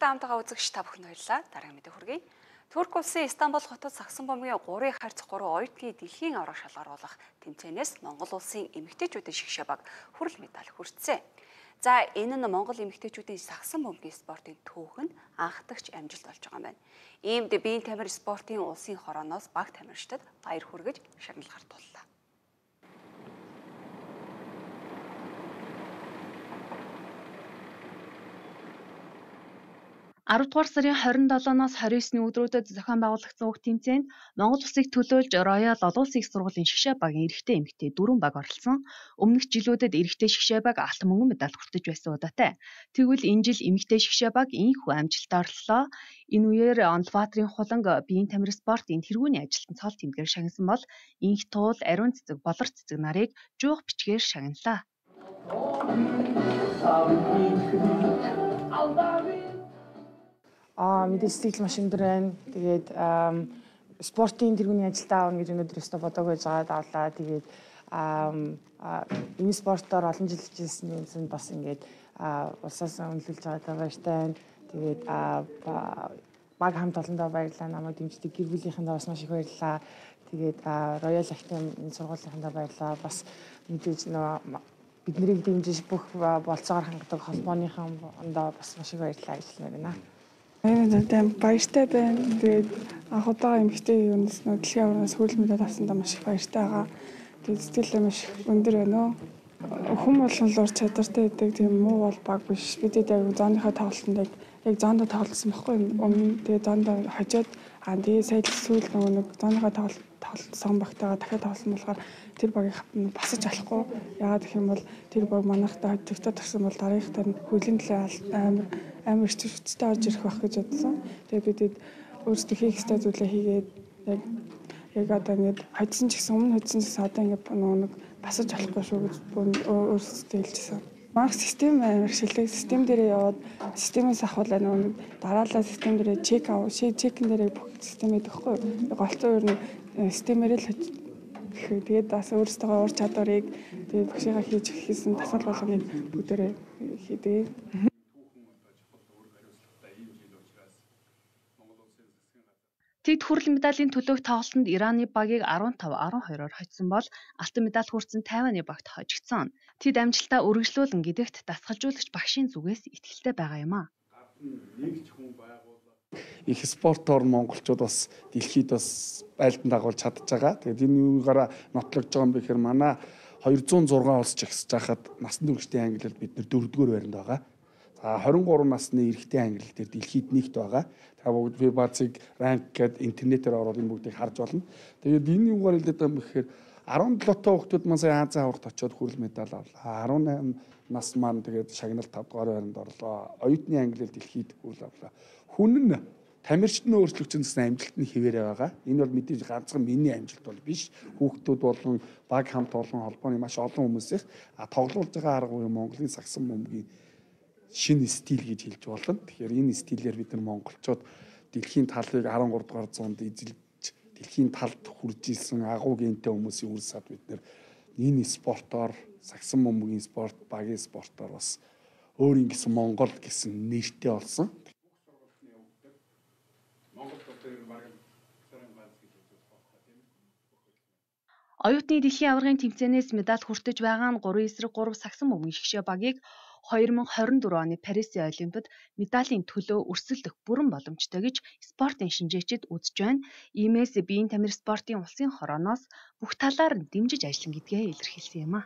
амжилттай хамтгаа үзэгч та бүхэн баярлалаа. Дараагийн мэдээ хүргэе. Турк улсын Истанбул хотод сагсан бомбын 3x3 оюутны дэлхийн аврах шалгаруулах тэмцээнээс Монгол улсын эмэгтэйчүүдийн шигшээ баг хүрэл медаль хүртсэн. За энэ нь Монгол эмэгтэйчүүдийн сагсан бомбын спортын түүхэнд анхдагч амжилт болж байгаа юм байна. Иймд биеийн тамир спортын улсын хорооноос баг тамирчдад баяр хүргэж шагнал гартууллаа. 10 дугаар сарын 27-ноос 29-ний өдрүүдэд зохион байгуулагдсан уг тэмцээнд Монгол улсыг төлөөлж Роял олон улсын их сургуулийн шгшээ багийн эрэгтэй эмэгтэй 4 баг оролцсон. Өмнөх жилүүдэд эрэгтэй шгшээ баг алтан мөнгөн медаль хүртэж байсан удаатай. Тэгвэл энэ жил эмэгтэй шгшээ баг ийхүү амжилттай орлоо. Энэ үеэр Онлбаатрын хуланг биеийн тамир спортын тэргүүний ажилтан цол тэмдгээр шагнасан бол инх туул, ариун цэцэг, болор цэцэг нарыг жуух бичгээр шагналаа. Мэдээж сэтгэл маш өндөр байна. Тэгээд спортын тэргүүний ажилдаа авна гэж өнөөдөр өстө бодоагүй жаад авлаа. Тэгээд энэ спортоор олон жил хийжсэн бас ингээд улсаас өнлүүлж байгаа баяртай байна. Тэгээд баг хамт олондоо баярлалаа. Намайг дэмждэг гэр бүлийнхэндээ бас маш их баярлалаа. Тэгээд Royal Academy энэ сургуулийнхандаа баярлалаа. Бас мэдээж бид нарыг дэмжиж бүх болцоогоор хангадаг холбооныхондоо бас маш их баярлалаа гэж хэлмээр байна. Энэ баяртай байна. Тэгээд анх удаа эмэгтэй юунаас дэлхийн авараас хүрэл медаль авсандаа маш их баяртай байгаа. Тэгээд сэтгэлээ маш өндөр байна уу. Хүн болгон л ур чадвартай байдаг. Тийм муу бол баг биш. Бидэд яг зооныхоо тоглолтод яг зоондоо тоглосон байхгүй өмнө. Тэгээд зоондоо хожоод тэгээд сая сүүл нэг зооныхоо тоглолтсон багтайгаа дахиад тоглосон болохоор тэр багийг басаж болохгүй. Яагаад гэх юм бол тэр баг манайхтай хожигдоод тагсан бол дараагийнхтай хөлийн төлөө амар хүчтэй орж ирэх байх гэж бодсон. Тэгээд бидэд өөрсдөө хийх ёстой зүйлээ хийгээд яг одоо ингэж хоцсон ч гэсэн өмнө хоцсон ч гэсэн одоо ингэ нэг басаж болохгүй шүү гэж өөрсдөө хэлжсэн. Марк систем амар шилдэг. Систем дээрээ яваад системээс ахвал нэг дараалал систем дээрээ чекин дээрээ бүх систем өгөхгүй. Голцоо ер нь системээр л тэгээд бас өөрсдөө ур чадварыг тэгээд багшигаа хийж хийсэн тасал болгоныг бүгдээрээ хийдэг. Тэд хүрэл медалийн төлөөх тоглолтод Ираны багийг 15-12-оор хоцсон бол алтан медаль хүртсэн Тайваны багт хожигдсон. Тэд амжилтаа үргэлжлүүлэн гэдэгт дасгалжуулагч багшийн зүгээс итгэлтэй байгаа юм а. Их спортоор монголчууд бас дэлхийд бас байлдан дагуулж чадж байгаа. Тэгээд энэ юугаараа нотлогдож байгаа юм бэ гэхээр манай 206 улс жагсаж байхад насны хүрээчтэй ангиллал бид нэр 4-р байранд байгаа. За 23 насны эрэгтэй ангиллал дээр дэлхийд нэгт байгаа. Тэгээд би бацыг ранк гэдэг интернетээр ороод энэ бүгдийг харж болно. Тэгээд энэ юугаар хэлээд байгаа юм гэхээр 17 тоо хүүхдүүд маань сая Азийн аврагт очиод хүрэл медаль авлаа. 18 нас маань тэгээд шагналт 5 дугаар байранд орлоо. Оюутны ангиллал дэлхийд хүрэл авлаа. Хүн нь тамирчид нь өөрчлөгдсөн гэсэн амжилтны хэвээрээ байгаа. Энэ бол мэдээж ганцхан миний амжилт бол биш. Хүүхдүүд болон баг хамт олон холбооны маш олон хүмүүсийн тоглуулж байгаа арга буюу Монголын сагсан бөмбөгийн шинэ стил гэж хэлж болно. Тэгэхээр энэ стилээр бид нар монголчууд дэлхийн талыг 13 дугаар зуунд эзэлж дэлхийн талд хүрж исэн агуу гентэй хүмүүсийн үр сад бид нар энэ спортоор сагсан бөмбөгийн спорт, багийн спортоор бас өөр ингэсэн Монгол гэсэн нэртэй болсон. Оюутны дэлхийн аваргын тэмцээнээс медаль хүртэж байгаа нь 3 эсрэг 3 сагсан бөмбөгийн шгшээ багийг 2024 оны Парисын Олимпиад медалийн төлөө өрсөлдөх бүрэн боломжтой гэж спортын шинжээчид үзэж байна. Иймээс биеийн тамир спортын улсын хорооноос бүх талаар нь дэмжиж ажиллана гэдгээ илэрхийлсэн юм а.